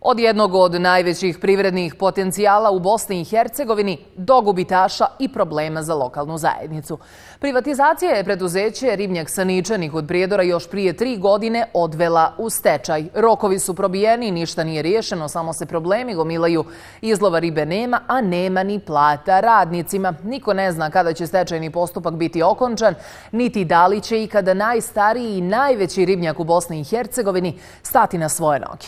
Od jednog od najvećih privrednih potencijala u Bosni i Hercegovini do gubitaša i problema za lokalnu zajednicu. Privatizacija je preduzeće Ribnjak Saničani kod Prijedora još prije 3 godine odvela u stečaj. Rokovi su probijeni, ništa nije riješeno, samo se problemi gomilaju. Izlova ribe nema, a nema ni plata radnicima. Niko ne zna kada će stečajni postupak biti okončan, niti da li će ikada najstariji i najveći ribnjak u Bosni i Hercegovini stati na svoje noge.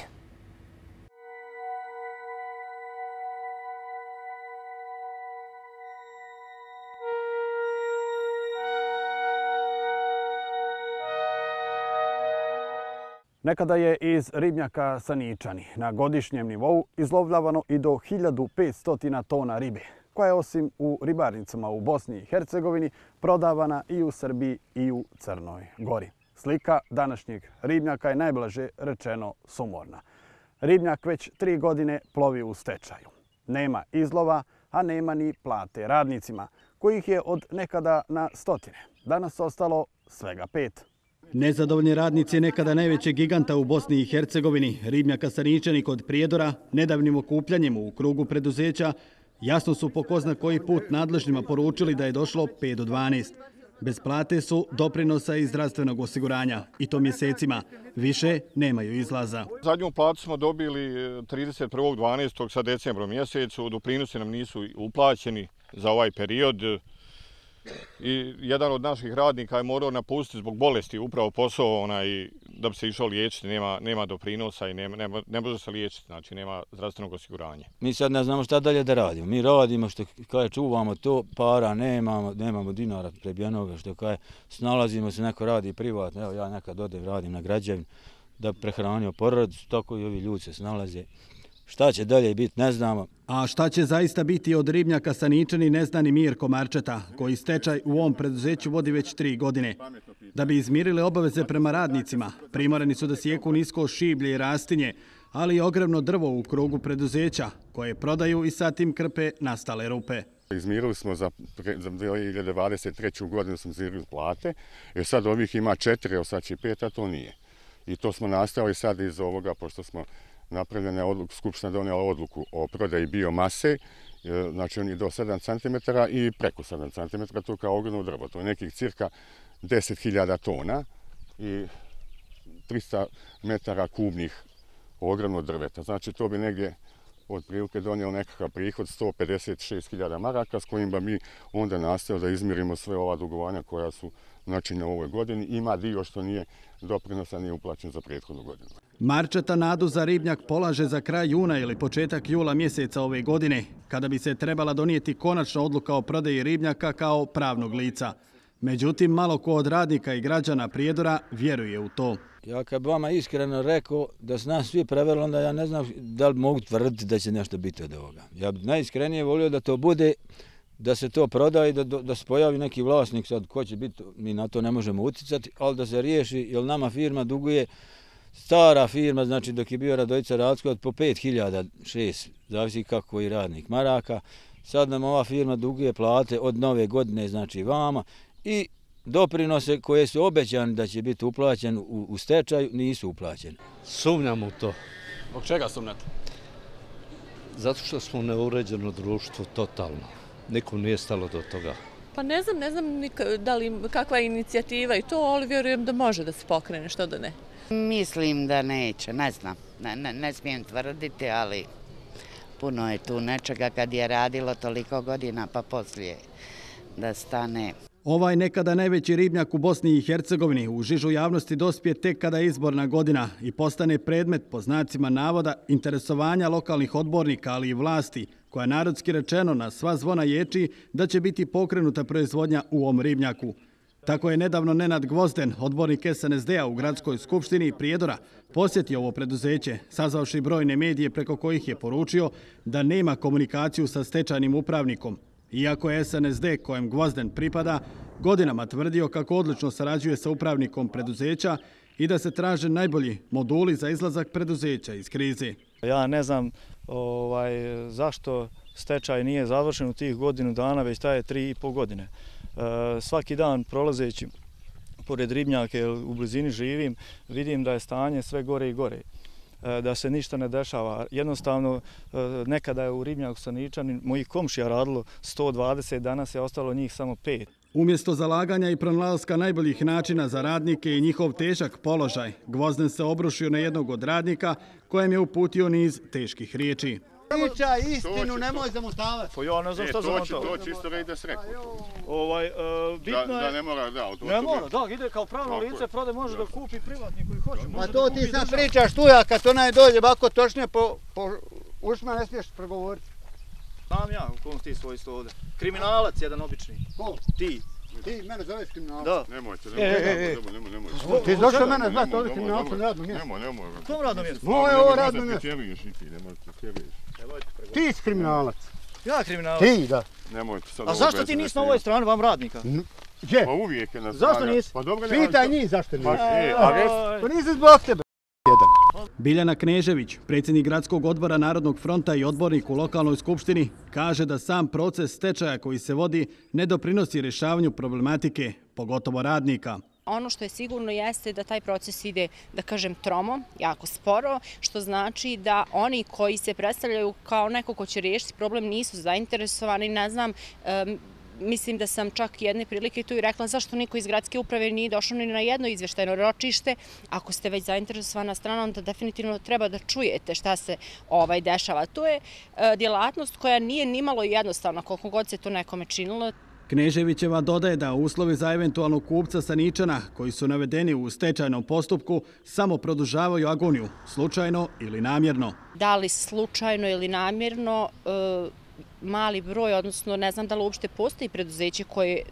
Nekada je iz ribnjaka Saničani na godišnjem nivou izlovljavano i do 1500 tona ribe, koja je osim u ribarnicama u Bosni i Hercegovini prodavana i u Srbiji i u Crnoj Gori. Slika današnjeg ribnjaka je najblaže rečeno sumorna. Ribnjak već 3 godine plovi u stečaju. Nema izlova, a nema ni plate radnicima, kojih je od nekada na stotine. Danas ostalo svega 5. Nezadovoljni radnici nekada najvećeg giganta u Bosni i Hercegovini, ribnjaka Saničani kod Prijedora, nedavnim okupljanjem u krugu preduzeća, jasno su po ko zna koji put nadležnima poručili da je došlo 5 do 12. Bez plate su, doprinosa i zdravstvenog osiguranja, i to mjesecima. Više nemaju izlaza. Zadnju platu smo dobili 31.12. sa decembrom mjesecu, doprinosi nam nisu uplaćeni za ovaj period. I jedan od naših radnika je morao napustiti zbog bolesti upravo posao da bi se išao liječiti, nema doprinosa i ne može se liječiti, znači nema zdravstvenog osiguranja. Mi sad ne znamo šta dalje da radimo. Mi radimo što kaže čuvamo to, para nemamo dinara prebijenoga, što kaže snalazimo se, neko radi privatno. Evo ja nekad odem radim na građevini da prehranio porodicu, tako i ovi ljudi se snalaze. Šta će dalje biti, ne znamo. A šta će zaista biti od ribnjaka Saničani ne zna ni Mirko Marčeta, koji stečaj u ovom preduzeću vodi već 3 godine. Da bi izmirili obaveze prema radnicima, primorani su da sijeku nisko šiblje i rastinje, ali i ogromno drvo u krugu preduzeća, koje prodaju i sad tim krpe nastale rupe. Izmirili smo za 2023. godinu smo izmirili plate, jer sad ovih ima 4, evo sad će 5, a to nije. I to smo nastavili sad iz ovoga, pošto smo napravljena odluka, Skupština donijela odluku o prodaji biomase, znači on je do 7 cm i preko 7 cm, to je kao ogromno drvo, to je nekih cirka 10.000 tona i 300 metara kubnih ogromno drveta. Znači to bi negdje otprilike donijelo nekakav prihod 156.000 maraka s kojim bi mi onda nastavili da izmirimo sve ova dugovanja koja su načinjena u ovoj godini. Ima dio što nije doprinosa, nije uplaćen za prethodnu godinu. Marčeta nadu za ribnjak polaže za kraj juna ili početak jula mjeseca ove godine, kada bi se trebala donijeti konačna odluka o prodaji ribnjaka kao pravnog lica. Međutim, malo ko od radnika i građana Prijedora vjeruje u to. Ja kad bi vama iskreno rekao da su nas svi prevarili, onda ja ne znam da li mogu tvrditi da će nešto biti od ovoga. Ja bi najiskrenije volio da to bude, da se to proda i da se pojavi neki vlasnik, sad ko će biti, mi na to ne možemo utjecati, ali da se riješi, jer nama firma duguje, stara firma, znači dok je bio Radojica Racko, po 5.000, 6, zavisi kako koji radnik maraka. Sad nam ova firma duguje plate od nove godine, znači vama, i doprinose koje su obećani da će biti uplaćeni u stečaju nisu uplaćeni. Sumnjam u to. Zbog čega sumnjate? Zato što smo neuređeno društvo totalno. Nikom nije stalo do toga. Pa ne znam da li kakva je inicijativa i to, ali vjerujem da može da se pokrene, što da ne. Mislim da neće, ne znam. Ne smijem tvrditi, ali puno je tu nečega kad je radilo toliko godina pa poslije da stane. Ovaj nekada najveći ribnjak u Bosni i Hercegovini u žižu javnosti dospije tek kada je izborna godina i postane predmet, po znacima navoda, interesovanja lokalnih odbornika, ali i vlasti, koja narodski rečeno na sva zvona ječi da će biti pokrenuta proizvodnja u ovom ribnjaku. Tako je nedavno Nenad Gvozden, odbornik SNSD-a u Gradskoj skupštini Prijedora, posjetio ovo preduzeće, sazvavši brojne medije preko kojih je poručio da nema komunikaciju sa stečajnim upravnikom. Iako je SNSD, kojem Gvozden pripada, godinama tvrdio kako odlično sarađuje sa upravnikom preduzeća i da se traže najbolji moduli za izlazak preduzeća iz krize. Ja ne znam zašto stečaj nije završen u tih godinu dana, već traje 3,5 godine. Svaki dan prolazeći pored ribnjaka, u blizini živim, vidim da je stanje sve gore i gore. da se ništa ne dešava. Jednostavno, nekada je u ribnjaku Saničani mojih komšija radilo 120, danas je ostalo njih samo 5. Umjesto zalaganja i pronalaska najboljih načina za radnike i njihov težak položaj, Gvozden se obrušio na jednog od radnika kojem je uputio niz teških riječi. Priča istinu, nemoj zamotavati. Pa ja ne znam što zamotavati. To čisto već da se rekao. Bitno je... Da ne mora, da. Ne mora, da, ide kao pravno lice, prode može da kupi privatnik koji hoće. Pa to ti sad pričaš tu, a kad onaj dođe ovako točnije po ušima ne smiješ pregovoriti. Znam ja u kom ti svoj sto ovdje. Kriminalac jedan obični. Ko? Ti. Ti mene zoveš kriminalac? Da. Nemojte. Ti zašto mene zvati ovdje kriminalcom na radnom mjestu? Nemoj. Kom radnom mjestu? Moje ovo radno mjesto. Ti si kriminalac. Ja kriminalac? Ti, da. Nemojte sad. A zašto ti nisi na ovoj strani vam radnika? Gdje? Pa uvijek je na Zašto nisi? Pitaj njih zašto nisi. Pa nisi zbog tebe. Biljana Knežević, predsjednik Gradskog odbora Narodnog fronta i odbornik u lokalnoj skupštini, kaže da sam proces stečaja koji se vodi ne doprinosi rješavanju problematike, pogotovo radnika. Ono što je sigurno jeste da taj proces ide, da kažem, tromo, jako sporo, što znači da oni koji se predstavljaju kao neko ko će riješiti problem nisu zainteresovani, ne znam, mislim da sam čak jedne prilike tu i rekla zašto niko iz gradske uprave nije došao ni na jedno izveštajno ročište. Ako ste već zainteresovana strana, onda definitivno treba da čujete šta se dešava. To je djelatnost koja nije nimalo jednostavna, koliko god se to nekome činilo. Kneževićeva dodaje da uslovi za eventualnog kupca Saničana, koji su navedeni u stečajnom postupku, samo produžavaju agoniju, slučajno ili namjerno. Da li slučajno ili namjerno, mali broj, odnosno ne znam da li uopšte postoji preduzeće koje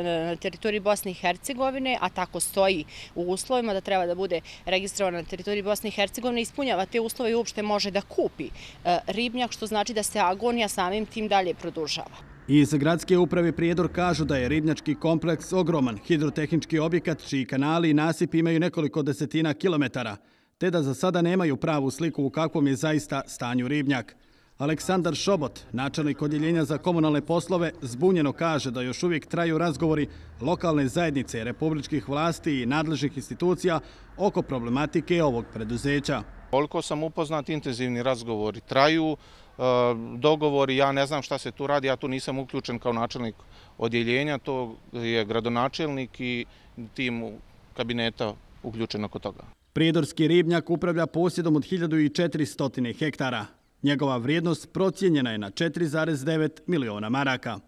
na teritoriji Bosne i Hercegovine, a tako stoji u uslovima da treba da bude registrovano na teritoriji Bosne i Hercegovine, ispunjava te uslove i uopšte može da kupi ribnjak, što znači da se agonija samim tim dalje produžava. Iz Gradske uprave Prijedor kažu da je ribnjački kompleks ogroman hidrotehnički objekat čiji kanali i nasipi imaju nekoliko desetina kilometara, te da za sada nemaju pravu sliku u kakvom je zaista stanju ribnjak. Aleksandar Šobot, načelnik odjeljenja za komunalne poslove, zbunjeno kaže da još uvijek traju razgovori lokalne zajednice, republičkih vlasti i nadležnih institucija oko problematike ovog preduzeća. Koliko sam upoznat, intenzivni razgovori traju, dogovori, ja ne znam šta se tu radi, ja tu nisam uključen kao načelnik odjeljenja, to je gradonačelnik i tim kabineta uključen oko toga. Prijedorski ribnjak upravlja posjedom od 1400 hektara. Njegova vrijednost procijenjena je na 4,9 miliona maraka.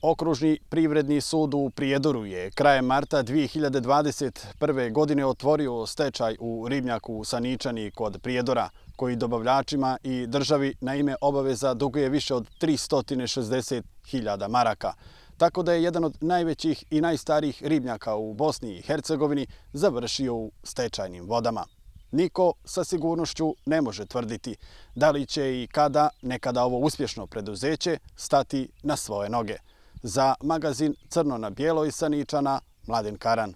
Okružni privredni sud u Prijedoru je krajem marta 2021. godine otvorio stečaj u ribnjaku Saničani kod Prijedora, koji dobavljačima i državi na ime obaveza duguje više od 360.000 maraka. Tako da je jedan od najvećih i najstarijih ribnjaka u Bosni i Hercegovini završio u stečajnim vodama. Niko sa sigurnošću ne može tvrditi da li će i kada nekada ovo uspješno preduzeće stati na svoje noge. Za magazin Crno na bijelo iz Saničana, Mladen Karan.